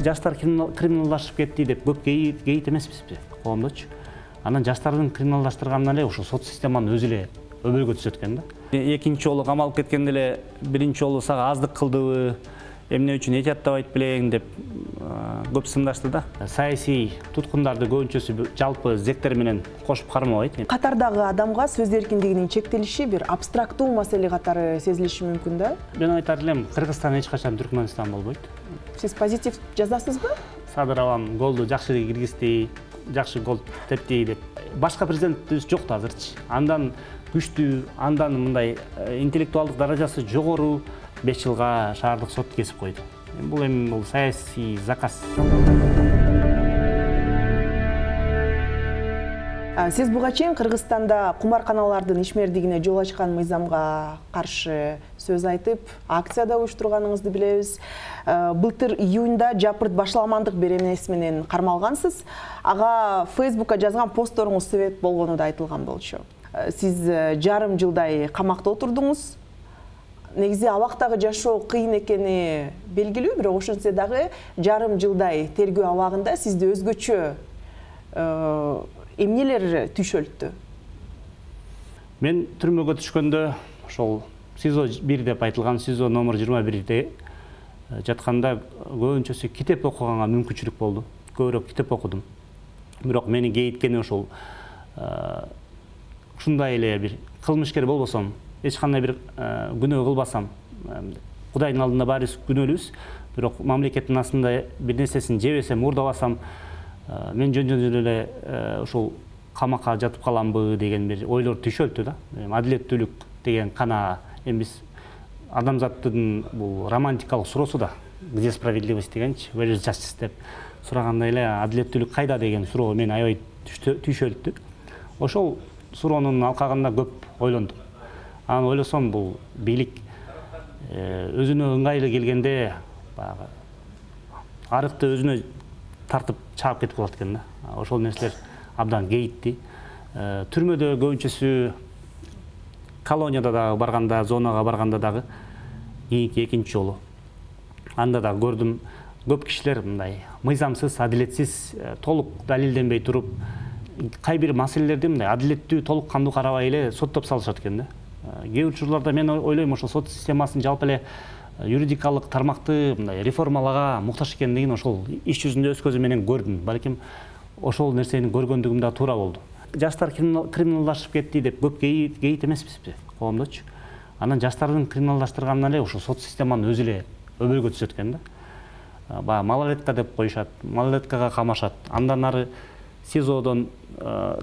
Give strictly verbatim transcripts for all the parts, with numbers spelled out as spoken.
жаштар криминалдашып кетти деп көп кейит эмеспизби коомдочу. Анан жаштардын криминалдаштырганынан эле ушул сот системанын өзү эле өбөлгө түшөт экен да. Экинчи жолу камалып кеткенде эле биринчи жолу сага аздык кылдыбы, эмне үчүн этияттабайт белең деп көп сындашты да. Саясий туткундарды көбүнчөсү жалпы зектер менен кошуп кармабайт. Катардагы адамга сөз эркиндигинин чектелиши бир абстрактуу маселе катары сезилиши мүмкүн да? Мен айтар элем, Кыргызстан эч качан Түркмөнстан болбойт. Сиз позитив жазасызбы? Садыр абам голду жакшы киргизди, жакшы гол тепти деп. Башка президентибиз жок да азырчы. Андан күчтүү, андан мындай интеллектуалдык даражасы жогору беш жылга шаардык сот кесип койду. Бул эми бул саясий заказ. Сиз буга чейин Кыргызстанда кумарканалардын ишмердигине жол ачкан мыйзамга каршы сөз айтып, акцияда уюштурганыңызды билебиз. Былтыр июнда жапырт башаламандык беренеси менен кармалгансыз. Ага Фейсбукка жазган постторуңуз себеп болгону да айтылган болчу. Сиз жарым жылдай камакта отурдуңуз. Негизи абактагы жашоо кыйын экени белгилүү, бирок ошентсе дагы жарым жылдай тергөө абагында сизди өзгөчө эмнелер түйшөлттү? Мен түрмөгө түшкөндө ошол СИЗО бир деп айтылган СИЗО номер жыйырма бирде жатканда көбүнчөсү китеп окуганга мүмкүнчүлүк болду. Көбүрөөк китеп окудум. Бирок мени кейиткени ошол ушундай эле бир кылмышкер болбосом, эч кандай бир күнөө кылбасам, Кудайдын алдында баарыбыз күнөөлүүбүз, бирок мамлекеттин астында бир нерсесин жебесем, уурдабасам, мен жөн-жөн эле ушул камакка жатып каламбы деген бир ойлор түйшөлтү да. Адилеттүүлүк деген кана эми биз адамзаттын бул романтикалык суроосу да, где справедливость дегенчи, where is justice деп сурагандай эле адилеттүүлүк кайда деген суроо мени аябай түйшөлттү. Ошол суроонун алкагында көп ойлондум. Анан ойлосом, бул бийлик өзүнө ыңгайлуу келгенде баягы арыкты өзүнө тартып чаап кетип калат экен да. Ошол нерселер абдан кейитти. Түрмөдө көбүнчөсү колонияда дагы барганда, зонага барганда дагы кийинки экинчи жолу анда да көрдүм, көп кишилер мындай мыйзамсыз, адилетсиз, толук далилденбей туруп, кай бир маселелерди мындай адилеттүү, толук кандуу карабай эле соттоп салышат экен да. Кээ бир учурларда мен ойлойм, ошол сот системасын жалпы эле юридикалык тармакты мындай реформалага муктаж экендигин ошол иш жүзүндө өз көзүм менен көрдүм. Балким ошол нерсени көргөндүгүм да туура болду. Жаштар криминалдашып кетти деп көп кейит эмеспизби коомдочу. Анан жаштардын криминалдаштырганынан эле ушул сот системанын өзү эле өбөлгө түшөт экен да. Баягы малолетка деп коюшат, малолеткага камашат. Андан ары СИЗОдон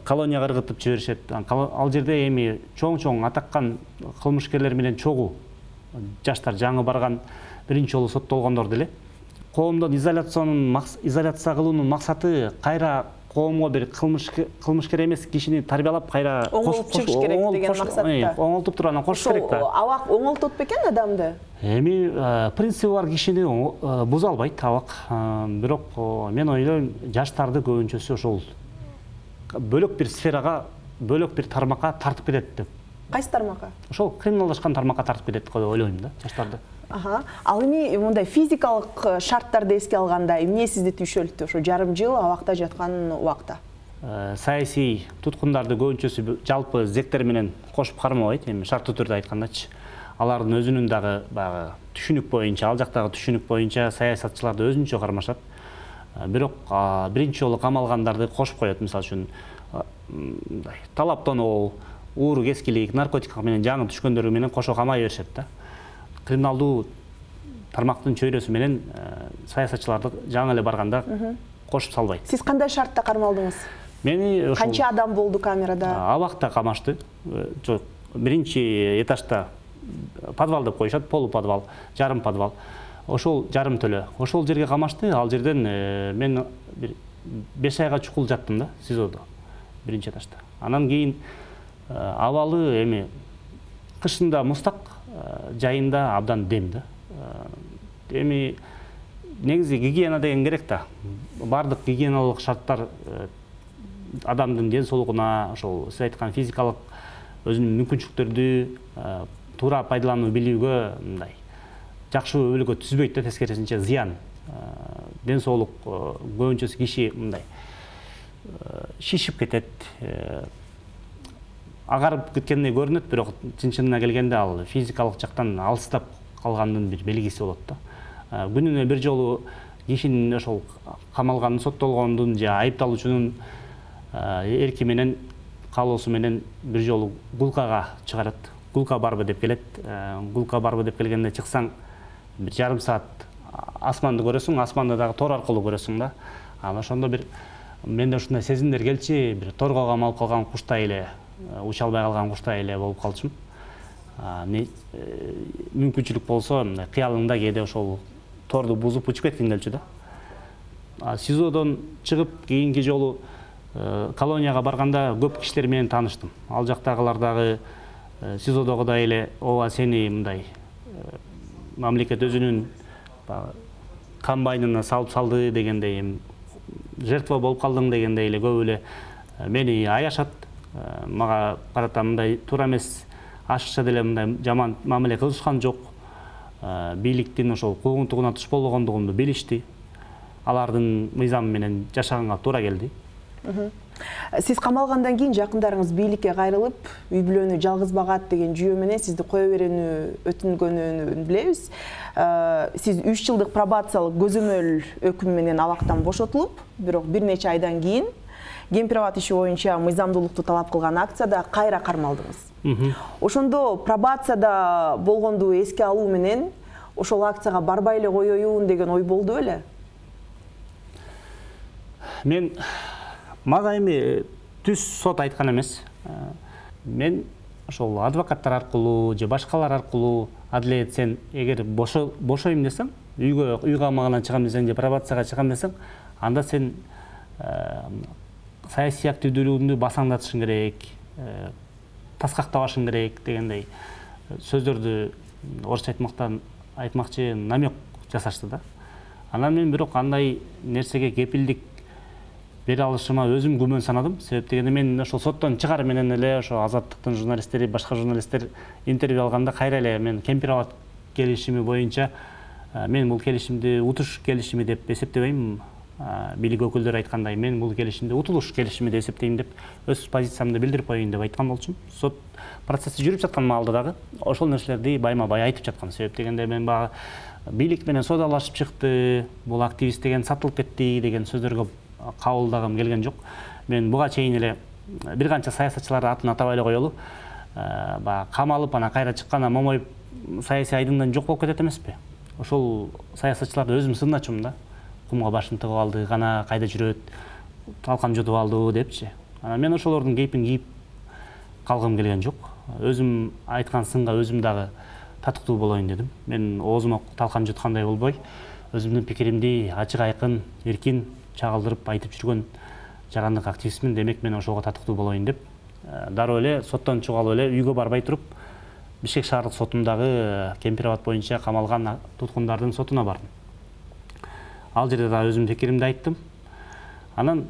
колонияга ыргытып жиберишет. Ал жерде эми чоң-чоң атаккан кылмышкерлер менен чогуу жаштар жаңы барган, биринчи жолу соттолгондор деле. Коомдон изоляциянын изоляция кылуунун максаты кайра коомго бир кылмышкер эмес кишини тарбиялап кайра оңолтуп чыгыш керек деген максатта. Оңолтуп туруп анан кошуш керек да. Абак оңолтот бекен адамды? Эми принципи бар кишини буза албайт абак. Бирок мен ойлойм, жаштарды көбүнчөсү ошол бөлөк бир сферага, бөлөк бир тармакка тартып кетет деп. Кайсы тармакка? Ошол криминалдашкан тармакка тартып кетет деп ойлойм да, жаштарды. Аха. Ал эми мындай физикалык шарттарды эске алганда эмне сизди түйшөлттү? Ошо жарым жыл абакта жаткан убакта. Саясий туткундарды көбүнчөсү жалпы зектер менен кошуп кармабайт, эми шарттуу түрдө айткандачы. Алардын өзүнүн дагы баягы түшүнүк боюнча, ал жактагы түшүнүк боюнча саясатчыларды өзүнчө кармашат. Бирок биринчи жолу камалгандарды кошуп коет, мисалы үчүн мындай талаптонуу, ууру кескилик, наркотик менен жаңы түшкөндөрү менен кошо камай беришет да. Криминалдуу тармактын чөйрөсү менен саясатчыларды жаңы эле барганда кошуп салбайт. Сиз кандай шартта кармалдыңыз? Мени канча адам болду камерада? Абакта камашты. Жок, биринчи этажда подвал деп коюшат, полуподвал, жарым подвал. Ошол жарым төлө. Ошол жерге камашты. Ал жерден мен бир беш айга чукул жаттым да, СИЗОдо, биринчи этажда. Анан кийин абалы эми кышында мустак, жайында абдан дем да. Эми негизи гигиена деген керек да. Бардык гигиеналык шарттар адамдын ден соолугуна, ошол сиз айткан физикалык өзүнүн мүмкүнчүлүктөрдү туура пайдалануу билүүгө мындай жакшы өбөлгө түзбөйт да, тескерисинче зыян. ден соолук көбүнчөсү киши мындай шишип кетет, агарып кеткендей көрүнөт, бирок чын-чынына келгенде ал физикалык жактан алыстап калгандын бир белгиси болот да. Күнүнө бир жолу кишинин ошол камалгандын, соттолгондун же айыпталуучунун эрки менен, каалоосу менен бир жолу гулкага чыгарат. Гулка барбы деп келет. Гулка барбы деп келгенде чыксаң бир жарым саат асманды көрөсүң, асманды дагы тор аркылуу көрөсүң да. Анан ошондо бир менде ушундай сезимдер келчи, бир торго камалып калган куштай эле, уча албай калган куштай эле болуп калчумун. Мүмкүнчүлүк болсо, мындай кыялыңда кээде ошол торду бузуп учуп кеткиң келчү да. СИЗОдон чыгып кийинки жолу колонияга барганда көп кишилер менен тааныштым. Ал жактагылар дагы СИЗОдогудай эле ооба сени мындай мамлекет өзүнүн комбайнына салып салды дегендей, жертва болуп калдың дегендей эле көп эле мени аяшат. Мага карата мындай туура эмес, ашыкча деле мындай жаман мамиле кылышкан жок. Бийликтин ошол куугунтугуна туш болгондугумду билишти. Алардын мыйзамы менен жашаганга туура келди. Сиз камалгандан кийин жакындарыңыз бийликке кайрылып, үй бүлөнү жалгыз багат деген жүйө менен сизди кое берүүнү өтүнгөнүн билебиз. Сиз үч жылдык пробациялык көзөмөл өкүм менен абактан бошотулуп, бирок бир нече айдан кийин Кемпир-Абад иши боюнча мыйзамдуулукту талап кылган акцияда кайра кармалдыңыз. Ошондо пробацияда болгонду эске алуу менен ошол акцияга барбай эле коеюн деген ой болду беле? Мен мага эми түз сот айткан эмес. Мен ошол адвокаттар аркылуу же башкалар аркылуу адилет сен эгер бошойм десең, үйгө үй камагынан чыгам десең же пробацияга чыгам десең, анда сен саясий активдүүлүгүңдү басаңдатышың керек, таскактабашың керек дегендей сөздөрдү орусча айтмактан айтмакчы намек жасашты да. Анан мен бирок андай нерсеге кепилдик бере алышыма өзүм күмөн санадым. Себеп дегенде мен ошол соттон чыгар менен эле ошо Азаттыктын журналисттери, башка журналисттер интервью алганда кайра эле мен Кемпир-Абад келишими боюнча мен бул келишимди утуш келишими деп эсептебейм. Бийлик өкүлдөрү айткандай, мен бул келишимди утулуш келишими деп эсептейм деп өз позициямды билдирип коеюн деп айткан болчумун. Сот процесси жүрүп жаткан маалда дагы ошол нерселерди байма-бай айтып жаткан. Себеп дегенде мен багы бийлик менен соодалашып чыкты, бул активист деген сатылып кетти деген сөздөргө кабылдагым келген жок. Мен буга чейин эле бир канча саясатчыларды атын атабай эле коелу, баягы камалып анан кайра чыкканда момоюп саясий айдыңдан жок болуп кетет эмеспи? Ошол саясатчыларды өзүм сынначумун да. Кумга башын тыгып алды, гана кайда жүрөт, талкан жутуп алды депчи. Анан мен ошолордун кейпин кийип калгым келген жок. Өзүм айткан сынга өзүм дагы татыктуу болоюн дедим. Мен оозума талкан жуткандай болбой, өзүмдүн пикиримди ачык айкын, эркин чагылдырып айтып жүргөн жагандык активистмин, демек мен ошого татыктуу болоюн деп дароо эле соттон чыгып алып эле үйгө барбай туруп Бишкек шаардык сотундагы Кемпир-Абад боюнча камалган туткундардын сотуна бардым. Ал жерде да өзүмдүн пикиримди айттым. Анан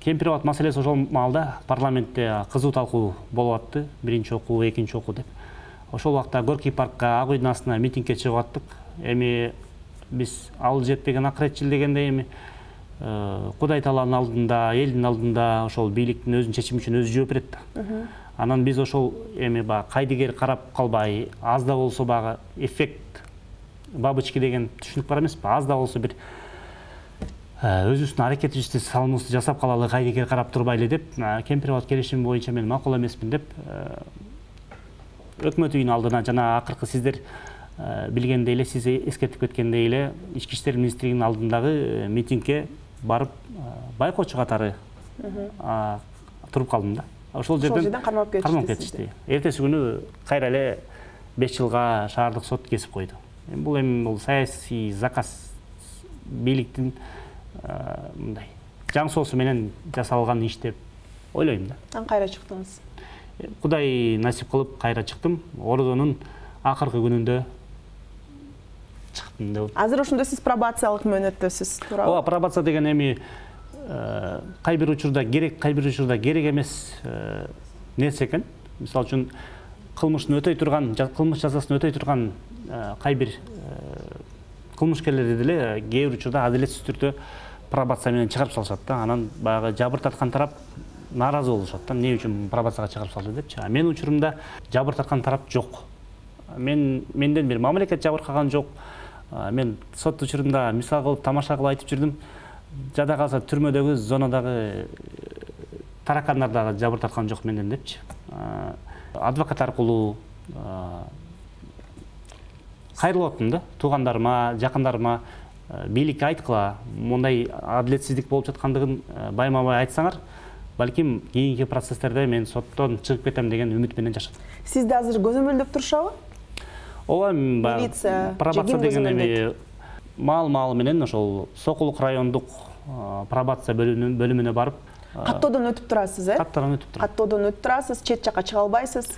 Кемпир-Абад маселеси ошол маалда парламентте кызуу талкуу болуп атты. Биринчи окуу, экинчи окуу деп. Ошол убакта Горький паркка, Ак үйдүн астына митингге чыгып аттык. Эми биз ал жетпеген акыретчил дегенде эми Кудай тааланын алдында, элдин алдында ошол бийликтин өзүнүн чечими үчүн өзү жооп берет да. Анан биз ошол эми баягы кайдыгер карап калбай, аз да болсо баягы эффект бабочки деген түшүнүк бар эмеспи? Аз да болсо бир өзүбүздүн аракетибизди, салымыбызды жасап калалы, кайдыгер карап турбайлы деп, Кемпир-Абад келишими боюнча мен макул эмесмин деп өкмөт үйүнүн алдына жана акыркы сиздер билгендей эле, сиз эскертип кеткендей эле Ички иштер министрлигинин алдындагы митингге барып байкоочу катары туруп калдым да. Ошол жерден кармап кетишти. Эртеси күнү кайра эле беш жылга шаардык сот кесип койду. Бул эми бул саясий заказ, бийликтин мындай жаң соосу менен жасалган иш деп ойлойм да. Анан кайра чыктыңыз? Кудай насип кылып кайра чыктым. Ордонун акыркы күнүндө чыктым деп. Азыр ошондо сиз пробациялык мөөнөттөсүз, туурабы? Ооба, пробация деген эми кай бир учурда керек, кай бир учурда керек эмес нерсе экен. Мисалы үчүн кылмыштын өтөй турган, кылмыш жазасын өтөй турган кай бир кылмышкерлерди деле кээ бир учурда адилетсиз түрдө пробация менен чыгарып салышат да. Анан баягы жабыр тарткан тарап нааразы болушат да. Эмне үчүн пробацияга чыгарып салды депчи. А менин учурумда жабыр тарткан тарап жок. Мен менден бир мамлекет жабыркаган жок. Мен сот учурунда мисал кылып тамаша кылып айтып жүрдүм. Жада калса түрмөдөгү зонадагы таракандар дагы жабыр тарткан жок менден депчи. Адвокат аркылуу кайрылып аттым да. Туугандарыма, жакындарыма бийликке айткыла, мындай адилетсиздик болуп жаткандыгын байма-бай айтсаңар, балким кийинки процесстерде мен соттон чыгып кетем деген үмүт менен жашадым. Сизди азыр көзөмөлдөп турушабы? Ооба, милиция, пробация деген эми маал-маал менен ошол Сокулук райондук пробация бөлүмүнө барып каттоодон өтүп турасыз, э? Каттоодон өтүп турам. Каттоодон өтүп турасыз, чет жакка чыга албайсыз.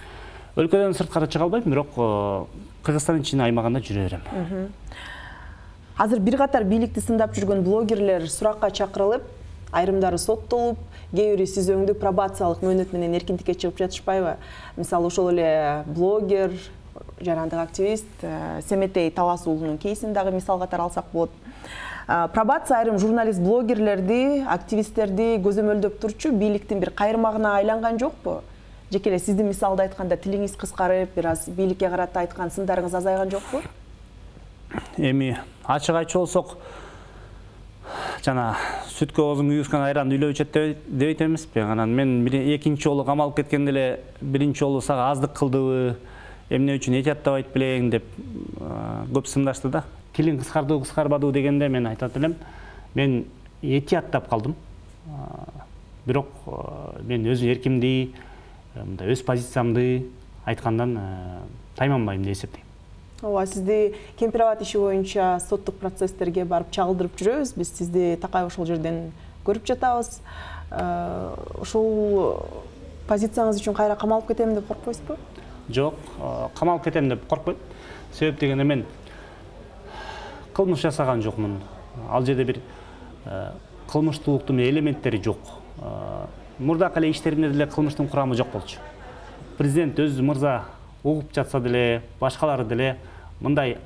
Өлкөдөн сырткары чыга албайм, бирок Кыргызстандын ичинин аймагында жүрө берем. Азыр бир катар бийликти сындап жүргөн блогерлер суракка чакырылып, айрымдары соттолуп, кээ бири сиз өңдү пробациялык мөөнөт менен эркиндикке чыгып жатышпайбы? Мисалы ошол эле блогер, жарандык активист Семетей Талас уулунун кейсин дагы мисал катары алсак болот. Пробация айрым журналист, блогерлерди, активисттерди көзөмөлдөп турчу бийликтин бир кайырмагына айланган жокпу? Жеке эле сиздин мисалды айтканда тилиңиз кыскарып, бир аз бийликке карата айткан сындарыңыз азайган жокпу? Эми ачык айтчу болсок, жана сүткө оозун күйгүзгөн айран үйлөп ичет дебейт эмеспи? Анан мен экинчи жолу камалып кеткенде эле биринчи жолу сага аздык кылдыбы, эмне үчүн этияттабайт белең деп көп сындашты да. Тилиң кыскардыбы, кыскарбадыбы дегенде мен айтат элем, мен этияттап калдым. Бирок мен өз эркимди, өз позициямды айткандан тайманбайм деп эсептейм. Ооба, сизди Кемпирабад иши боюнча соттук процесстерге барып чагылдырып жүрөбүз. Биз сизди такай ошол жерден көрүп жатабыз. Ошол позицияңыз үчүн кайра камалып кетем деп коркпойсузбу? Жок, камалып кетем деп коркпойм. Себеп дегенде мен кылмыш жасаган жокмун. Ал жерде бир кылмыштуулуктун элементтери жок. Мурдакы эле иштеримде деле кылмыштын курамы жок болчу. Президент өз мырза угуп жатса деле, башкалары деле мындай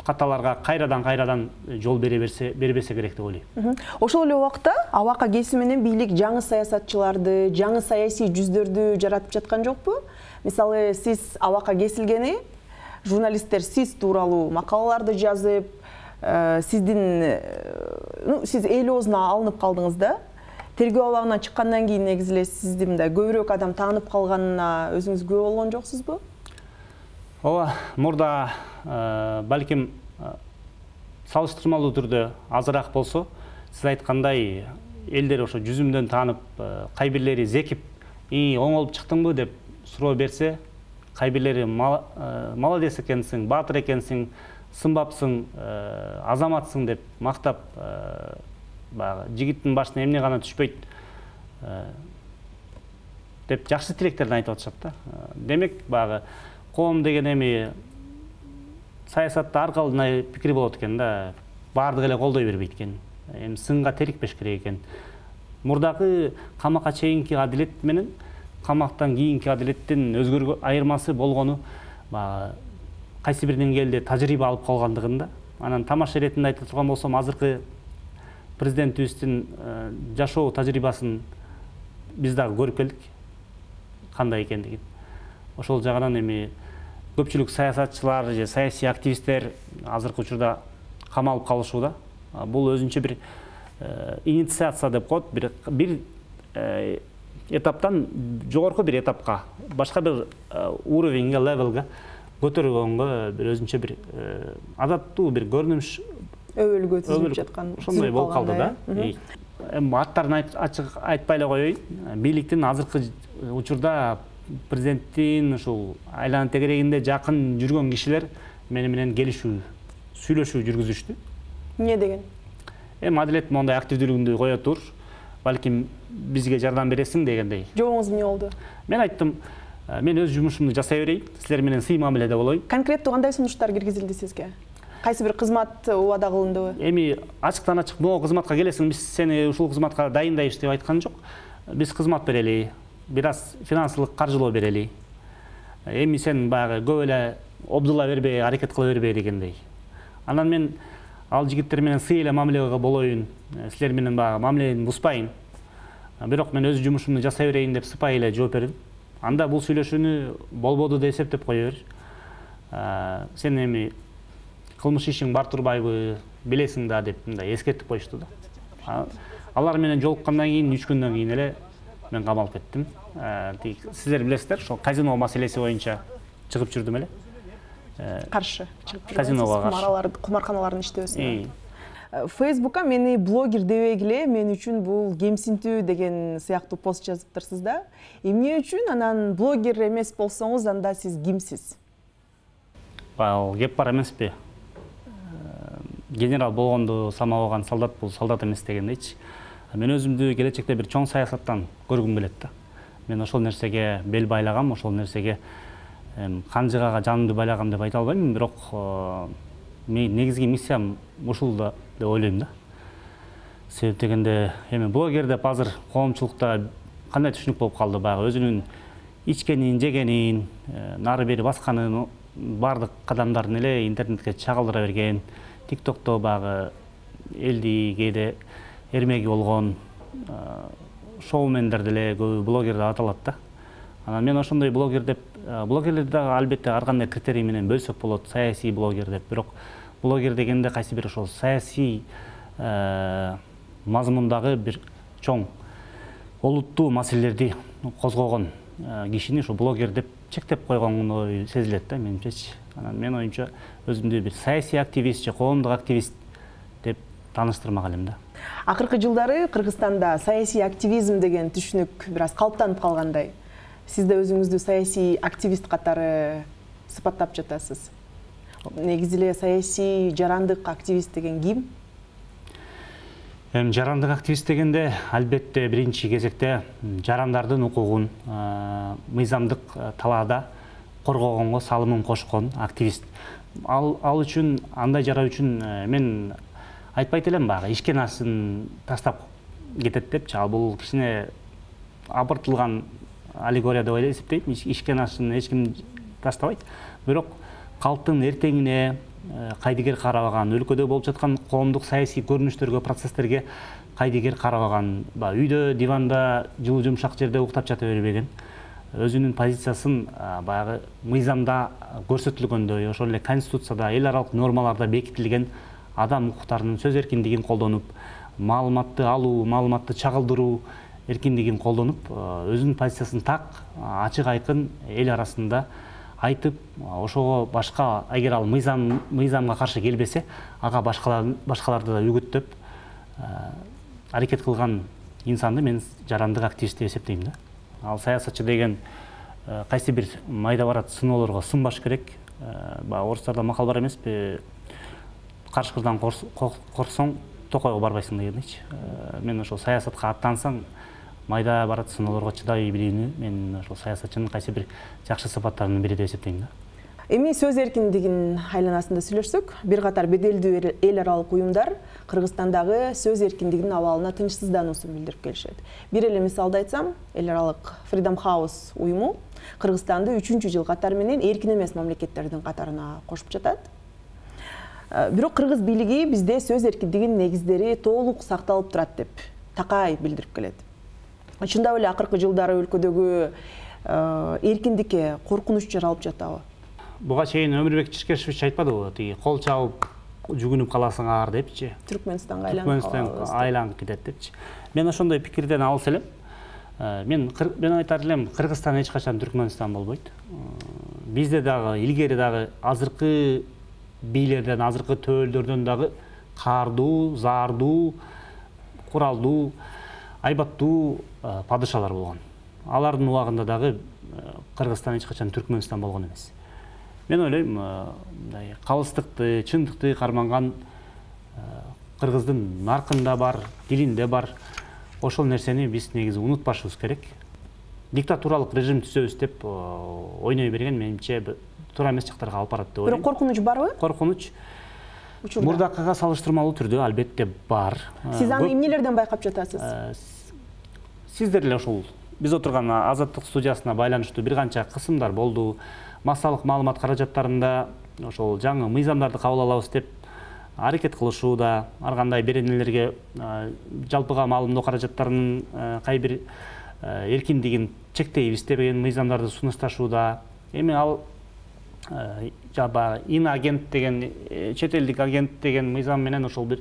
каталарга кайрадан кайрадан жол бере берсе, бербесе керек деп ойлойм. Ошол эле убакта Абака кеси менен бийлик жаңы саясатчыларды, жаңы саясий жүздөрдү жаратып жаткан жокпу? Мисалы, сиз Абака кесилгени, журналисттер сиз тууралуу макалаларды жазып, сиздин, ну, сиз эл оозуна алынып калдыңыз да. Тергөө абагынан чыккандан кийин негизи эле сизди мындай көбүрөөк адам таанып калганына өзүңүз күбө болгон жоксузбу? Ооба, мурда балким салыштырмалуу түрдө азыраак болсо, сиз айткандай элдер ошо жүзүмдөн таанып, кай бирлери зекип, "И, оңолуп чыктыңбы?" деп суроо берсе, кай бирлери "Молодец экенсиң, баатыр экенсиң, сымбапсың, азаматсың" деп мактап, баягы жигиттин башына эмне гана түшпөйт деп жакшы тилектерин айтып атышат да. Демек, баягы коом деген эми саясатта ар кандай пикир болот экен да. Баардыгы эле колдой бербейт экен. Эми сынга терикпеш керек экен. Мурдагы камакка чейинки адилет менен камактан кийинки адилеттин өзгөргөн айырмасы болгону баягы кайсы бир деңгээлде тажрыйба алып калгандыгында. Анан тамаша иретинде айта турган болсом, азыркы президентибиздин жашоо тажрыйбасын биз дагы көрүп келдик кандай экендигин. Ошол жагынан эми көпчүлүк саясатчылар же саясий активисттер азыркы учурда камалып калышууда. Бул өзүнчө бир инициация деп коет, бир бир этаптан жогорку бир этапка, башка бир уровеньге, левелге көтөргөнгө бир өзүнчө бир адаттуу бир көрүнүш өбөлгө түзүлүп жаткан, ошондой болуп калды да. Эми аттарын ачык айтпай эле коеюн. Бийликтин азыркы учурда президенттин ушул айлана тегерегинде жакын жүргөн кишилер мени менен келишүү, сүйлөшүү жүргүзүштү. Эмне деген? Эми адилет мондай активдүүлүгүңдү кое тур, балким бизге жардам бересиң дегендей. Жообуңуз эмне болду? Мен айттым, мен өз жумушумду жасай берейин, силер менен сый мамиледе болоюн. Конкреттүү кандай сунуштар киргизилди сизге? Кайсы бир кызмат убада кылындыбы? Эми ачыктан ачык могу кызматка келесиң, биз сени ушул кызматка дайындайбыз деп айткан жок. Биз кызмат берели, бир аз финансылык каржылоо берели. Эми сен баягы көп эле обдула бербей, аракет кыла бербей дегендей. Анан мен ал жигиттер менен сый эле мамиле болоюн, силер менен баягы мамилени бузбайын. Бирок мен өз жумушумду жасай берейин деп сыпайы эле жооп бердим. Анда бул сүйлөшүүнү болбоду деп эсептеп кое бер. Сен эми кылмыш ишиң бар турбайбы, билесиң да деп мындай эскертип коюшту да. Алар менен жолуккандан кийин үч күндөн кийин эле мен камалып кеттим. Сиздер билесиздер, ошол казино маселеси боюнча чыгып жүрдүм эле. Каршы чыгып жүрдүм. Казиного каршы. Кумарканалардын иштөөсүнө. Фейсбукка мени блогер дебегиле, мен үчүн бул кемсинтүү деген сыяктуу пост жазыптырсыз да. Эмне үчүн анан блогер эмес болсоңуз, анда сиз кимсиз? Ал кеп бар эмеспи? Генерал болгондо самабаган солдат бул солдат эмес дегендейчи. Мен өзүмдү келечекте бир чоң саясаттан көргүм келет да. Мен ошол нерсеге бел байлагам, ошол нерсеге канжыгага жанымды байлагам деп айта албайм, бирок мен негизги миссиям ушул да деп ойлойм да. Себеп дегенде эми блогер деп азыр коомчулукта кандай түшүнүк болуп калды, баягы өзүнүн ичкенин, жегенин, нары бери басканын бардык кадамдарын эле интернетке чагылдыра берген, тиктокто баягы элди кээде эрмеги болгон шоумендер деле көбү блогер деп аталат да. Анан мен ошондой блогер деп, блогерлерди дагы албетте ар кандай критерий менен бөлсөк болот, саясий блогер деп. Бирок блогер дегенде кайсы бир ошол саясий мазмундагы бир чоң олуттуу маселелерди козгогон кишини ошо блогер деп чектеп койгондой сезилет да менимчечи. Анан мен оюмча өзүмдү бир саясий активист же коомдук активист деп тааныштырмак элем да. Акыркы жылдары Кыргызстанда саясий активизм деген түшүнүк бир аз калыптанып калгандай. Сиз да өзүңүздү саясий активист катары сыпаттап жатасыз. Негизи эле саясий жарандык активист деген ким? Эми жарандык активист дегенде албетте биринчи кезекте жарандардын укугун мыйзамдык талаада коргогонго салымын кошкон активист. Ал ал үчүн, андай жара үчүн мен айтпайт элем баягы ишкен ашын таштап кетет депчи. Ал бул кичине абыртылган аллегория деп ойлойм, эсептейм. Ишкен ашын эч ким таштабайт. Бирок калктын эртеңине кайдыгер карабаган, өлкөдө болуп жаткан коомдук саясий көрүнүштөргө, процесстерге кайдыгер карабаган, үйдө диванда жылуу жумшак жерде уктап жата бербеген, өзүнүн позициясын баягы мыйзамда көрсөтүлгөндөй, ошол эле конституцияда, эл аралык нормаларда бекитилген адам укуктарынын сөз эркиндигин колдонуп, маалыматты алуу, маалыматты чагылдыруу эркиндигин колдонуп, өзүнүн позициясын так, ачык айкын эл арасында айтып, ошого башка, эгер ал мыйзам мыйзамга каршы келбесе, ага башкалар башкаларды да үгүттөп аракет кылган инсанды мен жарандык активист деп эсептейм да. Ал саясатчы деген кайсы бир майда барат сыноолорго сынбаш керек. Баягы орустарда макал бар эмеспи? Карышкырдан корксоң токойго барбайсың дегендейчи. Мен ошол саясатка аттансаң, майда барат сыноолорго чыдай билүүнү мен ошол саясатчынын кайсы бир жакшы сыпаттарынын бири деп эсептейм да. Эми сөз эркиндигинин айланасында сүйлөшсөк, бир катар беделдүү эл аралык уюмдар Кыргызстандагы сөз эркиндигинин абалына тынчсыздануусун билдирип келишет. Бир эле мисалды айтсам, эл аралык Freedom House уюму Кыргызстанды үчүнчү жыл катары менен эркин эмес мамлекеттердин катарына кошуп жатат. Бирок кыргыз бийлиги бизде сөз эркиндигинин негиздери толук сакталып турат деп такай билдирип келет. Чындап эле акыркы жылдары өлкөдөгү эркиндикке коркунуч жаралып жатабы? Буга чейин Өмүрбек Чиркешевич айтпадыбы, тиги кол чабып жүгүнүп каласыңар депчи. Түркмөнстанга айланып калабыз. Айланып кетет депчи. Мен ошондой пикирден алыс элем. Мен мен айтар элем, Кыргызстан эч качан Түркмөнстан болбойт. Бизде дагы илгери дагы азыркы бийлерден, азыркы төөлдөрдөн дагы каардуу, заардуу, куралдуу, айбаттуу падышалар болгон. Алардын убагында дагы Кыргызстан эч качан Түркмөнстан болгон эмес. Мен ойлойм, мындай калыстыкты, чындыкты карманган кыргыздын наркында бар, дилинде бар. Ошол нерсени биз негизи унутпашыбыз керек. Диктатуралык режим түзөбүз деп ойной берген менимче туура эмес жактарга алып барат деп ойлойм. Бирок коркунуч барбы? Коркунуч мурдакыга салыштырмалуу түрдө албетте бар. Сиз аны эмнелерден байкап жатасыз? Сиздер эле ошол биз отурган Азаттык студиясына байланыштуу бир канча кысымдар болду. Массалык маалымат каражаттарында ошол жаңы мыйзамдарды кабыл алабыз деп аракет кылышууда, ар кандай беренелерге жалпыга маалымдоо каражаттарынын кай бир эркиндигин чектейбиз деген мыйзамдарды сунушташууда. Эми ал жаба инагент деген чет элдик агент деген мыйзам менен ошол бир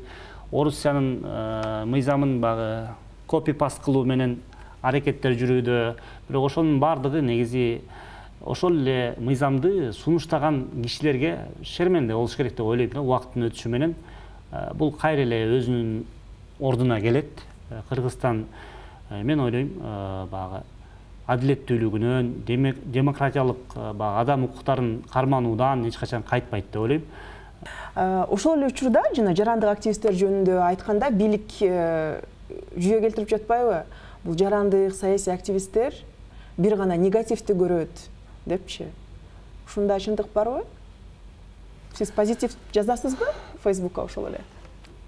Орусиянын мыйзамын багы копи паст кылуу менен аракеттер жүрүүдө. Бирок ошонун бардыгы негизи ошол эле мыйзамды сунуштаган кишилерге шерменде болуш керек деп ойлойм да. Убакыттын өтүшү менен бул кайра эле өзүнүн ордуна келет. Кыргызстан мен ойлойм багы адилеттүүлүгүнөн, демократиялык багы адам укуктарын кармануудан эч качан кайтпайт деп ойлойм. Ошол эле учурда жана жарандык активисттер жөнүндө айтканда бийлик жүйө келтирип жатпайбы? Бул жарандык саясий активисттер бир гана негативди көрөт депчи. Ушундай чындык барбы? Сиз позитив жазасызбы Facebook'ка ошол эле?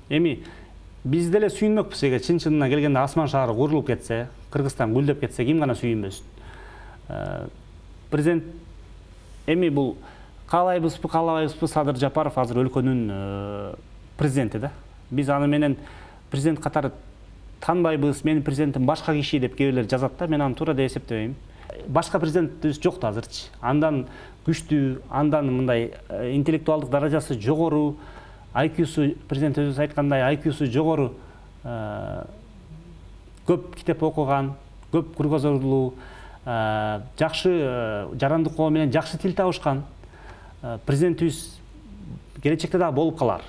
Эми биз деле сүйүнмөкпүз, эгер чын-чынына келгенде асман шаары курулуп кетсе, Кыргызстан гүлдөп кетсе, ким гана сүйүнбөсүн. Президент эми бул каалайбызбы, каалабайбызбы, Садыр Жапаров азыр өлкөнүн президенти да. Биз аны менен президент катары танбайбыз, менин президентим башка киши деп кээ бирлер жазат да, мен аны туура деп эсептебейм. Башка президентибиз жок да азырчы. Андан күчтүү, андан мындай интеллектуалдык даражасы жогору, ай кьюсу, президент өзү айткандай, ай кьюсу жогору, көп китеп окуган, көп кругозорлуу, жакшы жарандык коом менен жакшы тил табышкан президентибиз келечекте да болуп калар.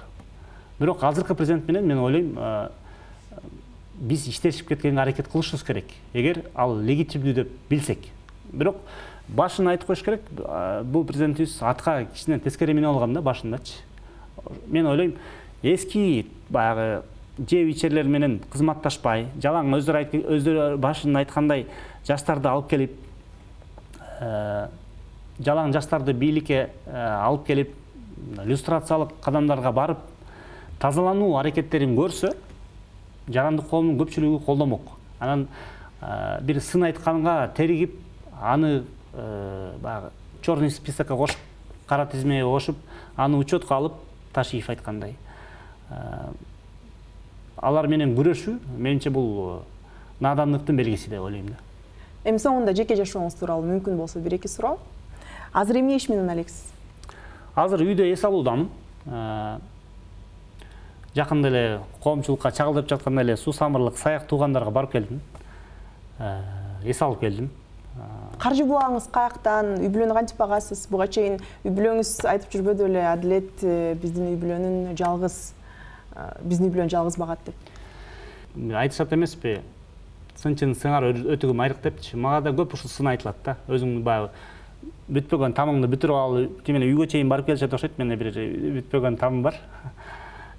Бирок азыркы президент менен мен ойлойм, биз иштешип кеткенге аракет кылышыбыз керек, эгер ал легитимдүү деп билсек. Бирок башын айтып коюш керек, бул президентибиз атка кичине тескери минип алган да башындачы. Мен ойлойм, эски баягы жеп ичерлер менен кызматташпай, жалаң өздөрү өздөрү башын айткандай жаштарды алып келип, жалаң жаштарды бийликке алып келип, люстрациялык кадамдарга барып, тазалануу аракеттерин көрсө, жарандык коомдун көпчүлүгү колдомок. Анан бир сын айтканга теригип, аны баягы черный списокко кошуп, кара тизмеге кошуп, аны учетко алып, Ташиев айткандай. Алар менен күрөшүү, менимче бул надандыктын белгиси деп ойлойм да. Эми соңунда жеке жашооңуз тууралуу мүмкүн болсо бир эки суроо. Азыр эмне иш менен алексиз? Азыр үйдө эс алуудамын. Жакында эле коомчулукка чагылдырып жатканда эле суу самырлык саяк туугандарга барып келдим. Эс алып келдим. Каржы булаңыз каяктан, үй бүлөнү кантип багасыз? Буга чейин үй бүлөңүз айтып жүрбөдү эле, Адилет биздин үй бүлөнүн жалгыз, биздин үй бүлөнү жалгыз багат деп. Айтышат эмеспи? Сынчын сыңар өтүгүм айрык депчи. Мага да көп ушул сын айтылат да. Өзүң баягы бүтпөгөн тамыңды бүтүрүп алып, тимene үйгө чейин барып келишет окшойт. Менде бир бүтпөгөн тамым бар.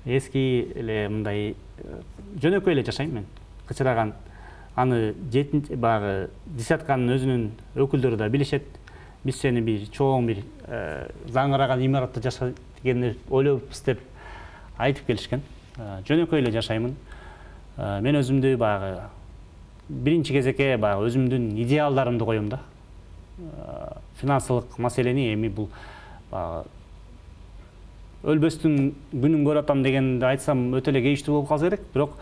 Эски эле мындай жөнөкөй эле жашайм мен. Кычыраган аны жетинчи баягы десятканын өзүнүн өкүлдөрү да билишет. Биз сени бир чоң бир заңыраган имаратта жашайт дегенди ойлойбуз деп айтып келишкен. Жөнөкөй эле жашаймын. Мен өзүмдү баягы биринчи кезекке баягы өзүмдүн идеалдарымды коем да. Финансылык маселени эми бул баягы өлбөстүн күнүн көрүп атам дегенди айтсам өтө эле кейиштүү болуп калса керек. Бирок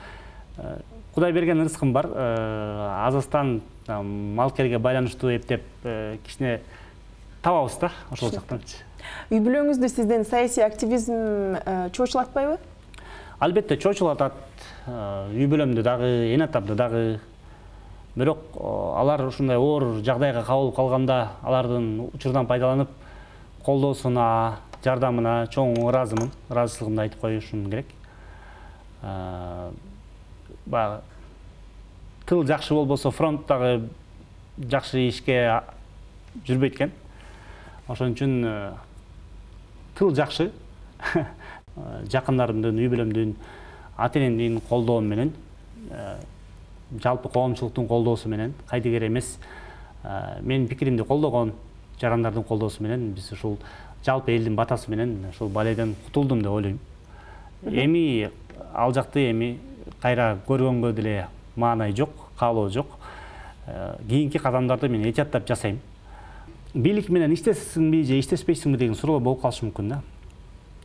Кудай берген ырыскым бар. Азастан малкерге байланыштуу эптеп кичине табабыз да ошол жактан. Үй бүлөңүздү сизден саясий активизм чоочулатпайбы? Албетте чоочулатат. Үй бүлөмдү дагы, эне атамды дагы. Бирок алар ушундай оор жагдайга кабылып калганда алардын учурдан пайдаланып колдоосуна, жардамына чоң ыраазымын. Ыраазычылыгымды айтып коюшум керек. Баягы тыл жакшы болбосо фронт дагы жакшы ишке жүрбөйт экен. Ошон үчүн тыл жакшы. Жакындарымдын, үй бүлөмдүн, ата-энемдин колдоо менен, жалпы коомчулуктун колдоосу менен, кайдыгер эмес, менин пикиримди колдогон жарандардын колдоосу менен биз ушул жалпы элдин батасы менен ушул балайдан кутулдум деп ойлойм. Эми ал жакты эми кайра көргөнгө деле маанай жок, каалоо жок. Кийинки кадамдарды мен этияттап жасайм. Бийлик менен иштесиңби же иштешпейсиңби деген суроо болуп калышы мүмкүн да.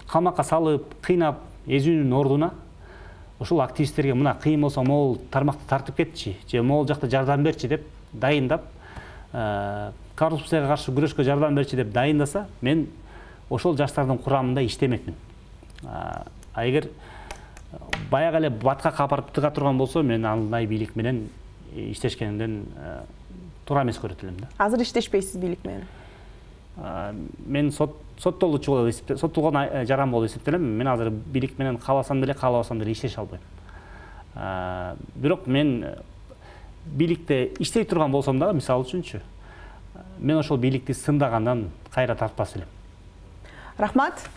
Камакка салып, кыйнап, езүүнүн ордуна ошол активисттерге мына кыйын болсо могул тармакты тартып кетчи же могул жакта жардам берчи деп дайындап, коррупцияга каршы күрөшкө жардам берчи деп дайындаса, мен ошол жаштардын курамында иштемекмин. А эгер баягы эле баткакка апарып тыга турган болсо, мен андай бийлик менен иштешкенимден туура эмес көрөт элем да. Азыр иштешпейсиз бийлик менен? Мен соттолуучу болуп эсептелем, соттолгон жаран болуп эсептелем. Мен азыр бийлик менен кааласам деле, каалабасам деле иштеше албайм. Бирок мен бийликте иштей турган болсом дагы, мисалы үчүнчү, мен ошол бийликти сындагандан кайра тартпас элем. Рахмат.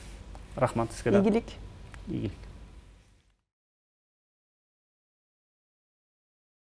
Рахмат сизге да. Ийгилик. Ийгилик.